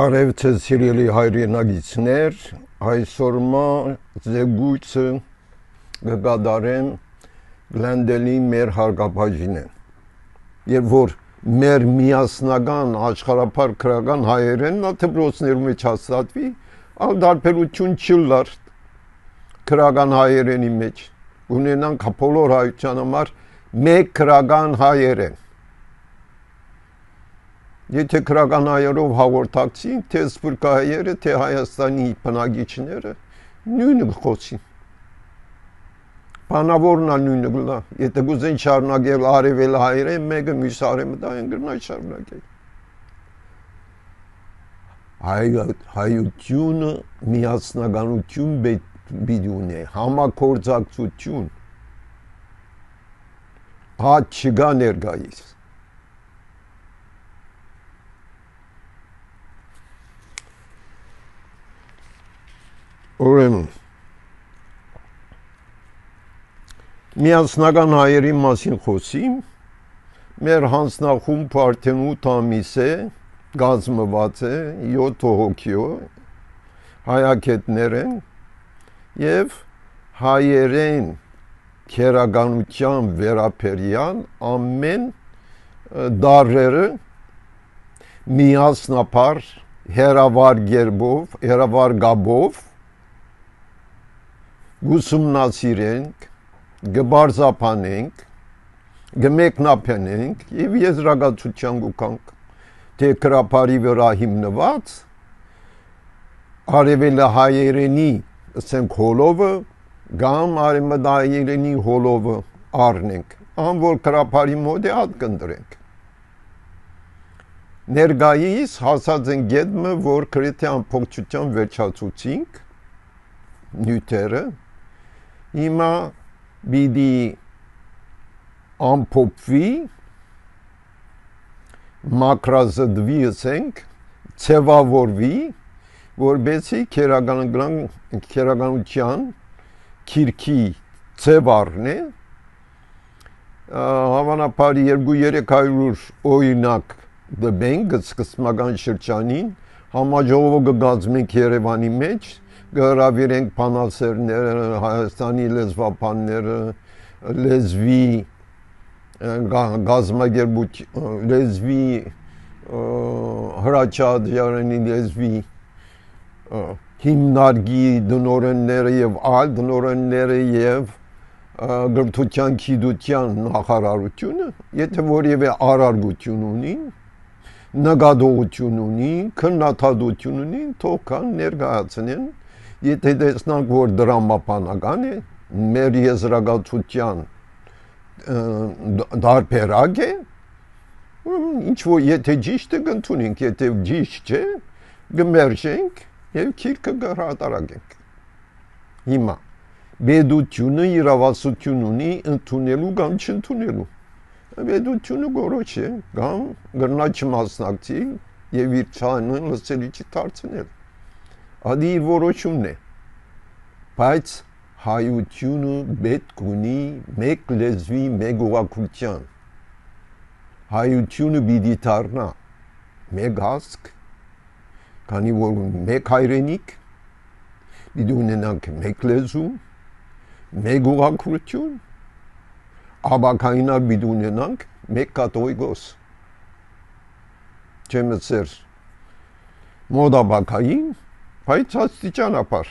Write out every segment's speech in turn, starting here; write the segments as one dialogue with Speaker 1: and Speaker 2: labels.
Speaker 1: Բարև ձեզ սիրելի հայրենագիցներ, այսօրմա զեկույցը կկատարեմ Գլենդելի մեր հարգապահին եւ որ մեր միասնական աշխարհափառ քրական հայերեն նա դպրոցներում մեջ հաստատվի, ալ դարբերություն չլար քրական հայերենի մեջ ունենանք բոլոր հայության համար մեկ քրական հայերեն. Եթե քրական հայերով հաղորդակցին, թե սփյուռքահայերը, թե Հայաստանի բնակիչները նույնը խոսին. Բանավորն է նույնը գլա, եթե գուզեն շարունակել արևել հայերեն, մեկը մյուս արևը դա են գրնա շարունակել. Հայությունը միասնականություն պիտի ունի, համագործակցություն, հատ չկա ներկայիս. Ուրեմն միասնական հայերի մասին խոսիմ, մեր հանձնախումբը արդեն 8 ամիս է կազմված է 7 հոգիով հայագետներ են եւ հայերեն քերականության վերաբերյալ ամեն դարերը միասնապար հերավար գերբով, հերավար գաբով գուսումնասիրենք, գբարձապանենք, գմեկնապենենք եւ եզրակացության գուկանք, թե քրապարի վրա հիմնված արևելը հայերենի ասենք հոլովը կամ արևմտահայերենի հոլովը առնենք, ան որ քրապարի մոտ է հատ կընտրենք. ներկայիս հասած են գետմը, որ գրեթե ամբողջությամբ վերջացուցինք նյութերը, հիմա պիտի ամփոփվի, մակրազդվի, ասենք, ցևավորվի, որբեսի քերականության քիրքի ցև առնի, հավանաբար 200-300 օրինակ դբենք սկզբնական շրջանին, համաժողովը կգազմենք Երևանի մեջ, կհրավիրենք բանասերները, Հայաստանի լեզվաբանները, լեզվի գազམ་ագերբություն, լեզվի հրաչադյարանի լեզվի հիմնարկի դնորենները եւ այլ դնորենները եւ գրթության գիտության նախարարությունը, եթե որևէ արարգություն ունի, նկատողություն ունի, քննադատություն ունի, թող կան ներկայացնեն. Եթե տեսնանք, որ դրամապանական է, մեր եզրակացության դարբերակ է, ինչ որ եթե ճիշտ է կընդունենք, եթե ճիշտ չէ, կմերժենք եւ քիրքը կհրատարակենք. Հիմա բեդությունը իրավասություն ունի ընդունելու կամ չընդունելու. բեդությունը գորոշ է, կամ գրնա չմասնակցել եւ իր ցանը լսելի չդարձնել. Ադի իր որոշումն է, բայց հայությունը պետք ունի մեկ լեզվի, մեկ ուղղակության. հայությունը պիտի դառնա մեկ ազգ, քանի որ մեկ հայրենիք, պիտի ունենանք մեկ լեզու, մեկ ուղղակություն, աբակայինար պիտի ունենանք մեկ կաթողիկոս. չեմ ասեր մոդաբակային, բայց աստիճանաբար.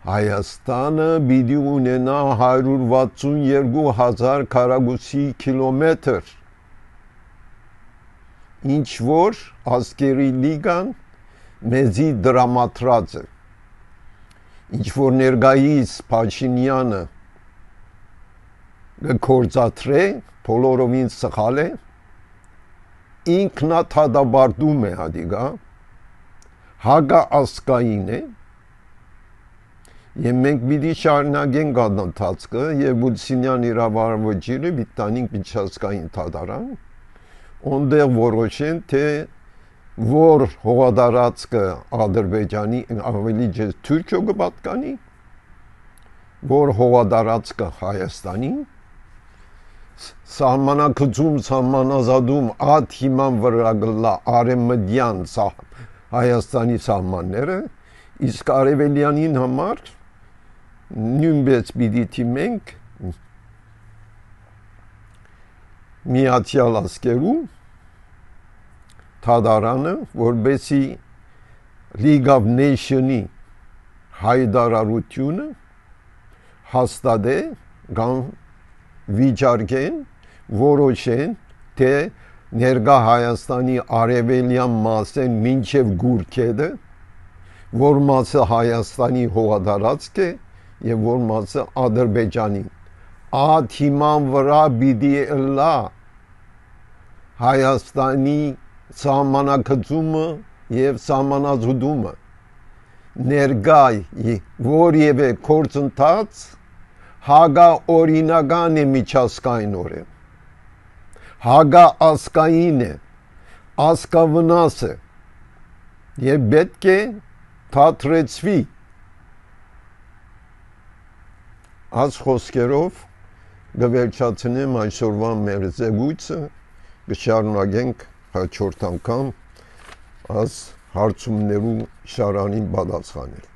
Speaker 1: Հայաստանը պիտի ունենա 162,000 քառակուսի կիլոմետր, ինչ որ ազգերի լիգան մեզի դրամատրած է, ինչ որ ներկայիս Փաշինյանը գործադրե, բոլորովին սխալ է, ինքնաթադաբարդում է հադիգա, հակաազգային է, եւ մենք պիտի շարունակենք այդ ընթացքը եւ Բուլսինյան իրավարվեջիրը պիտի տանենք միջազգային դատարան, ondեղ որոշեն, թե որ հողատարածքը Ադրբեջանի ավելի ջեզ Թուրքիո կպատկանի, որ հողատարածքը Հայաստանի, սահմանակցում սահմանազատում այդ հիման վրա գլա արևմտյան Հայաստանի սահմանները, իսկ արևելյանին համար նույնպես պիտի թիմենք Միացյալ Ազգերու թադարանը, որբեսի League of Nations-ի հայտարարությունը հաստատե կամ վիճարկեն, որոշեն, թե ներկա Հայաստանի արևելյան մասեն մինչև Գուրքեդը, որ մասը Հայաստանի հողատարածք է եւ որ մասը Ադրբեջանի։ Այդ հիման վրա պիտի լա Հայաստանի սահմանակցումը եւ սահմանազատումը ներկա որևէ գործընթաց հագաօրինական է միջազգայինորեն, հագաազգային է, ազգավնաս է եւ պետք է թատրեցվի։ Այս խոսքերով գվերջացնեմ այսօրվա մեր զեկույցը, կշարունակենք հաջորդ անգամ այս հարցումներու շարանին պատասխանել։